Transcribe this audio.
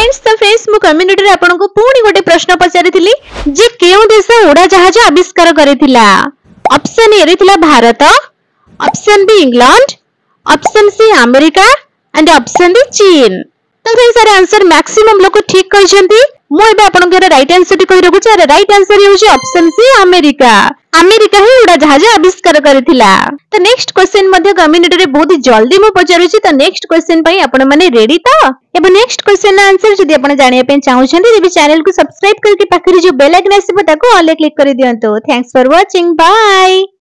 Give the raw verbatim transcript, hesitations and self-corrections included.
friends ତ friends ମୁଁ କମ୍ୟୁନିଟିରେ ଆପଣଙ୍କୁ ପୁଣି ଗୋଟେ ପ୍ରଶ୍ନ ପଚାରିଥିଲି ଯେ କେଉଁ ଦେଶ ଉଡ଼ାଜାହାଜ ଆବିଷ୍କାର କରିଥିଲା ଅପସନ ଏ ରେ ଥିଲା Bharat option B England option C America and option D ଚୀନ ତ ଫ୍ରେଣ୍ଡସ୍ ୟାର ଆନ୍ସର ମ୍ୟାକ୍ସିମମ୍ ଲୋକ ଠିକ କହିଛନ୍ତି ମୁଁ ଏବେ ଆପଣଙ୍କର ରାଇଟ୍ ଆନ୍ସରଟି କହି ରଖୁଛି ୟାର ରାଇଟ୍ ଆନ୍ସର ହେଉଛି ଅପସନ ସି ଆମେରିକା ଆମେରିକା ହିଁ ଉଡ଼ାଜାହାଜ ଆବିଷ୍କାର କରିଥିଲା ତ ନେକ୍ସଟ କ୍ୱେଶ୍ଚନ ମଧ୍ୟ କମ୍ୟୁନିଟିରେ ବହୁତ ଜଲ୍ଦି ମୁଁ ପଚାରୁଛି ତ ନେକ୍ସଟ କ୍ୱେଶ୍ଚନ ପାଇଁ ଆପଣ ମାନେ ରେଡି ତ ଏବେ ନେକ୍ସଟ କ୍ୱେଶ୍ଚନ ଆନ୍ସର ଯଦି ଆପଣ ଜାଣିବା ପାଇଁ ଚାହୁଁଛନ୍ତି ତେବେ ଚ୍ୟାନେଲକୁ ସବସ୍କ୍ରାଇବ କରିକି ପାଖରେ ଯୋଉ ବେଲ୍ ଆଇକନ୍ ଆସିବ ତାକୁ ଅଲ୍ କ୍ଲିକ୍ କରିଦିଅନ୍ତୁ Thanks for watching bye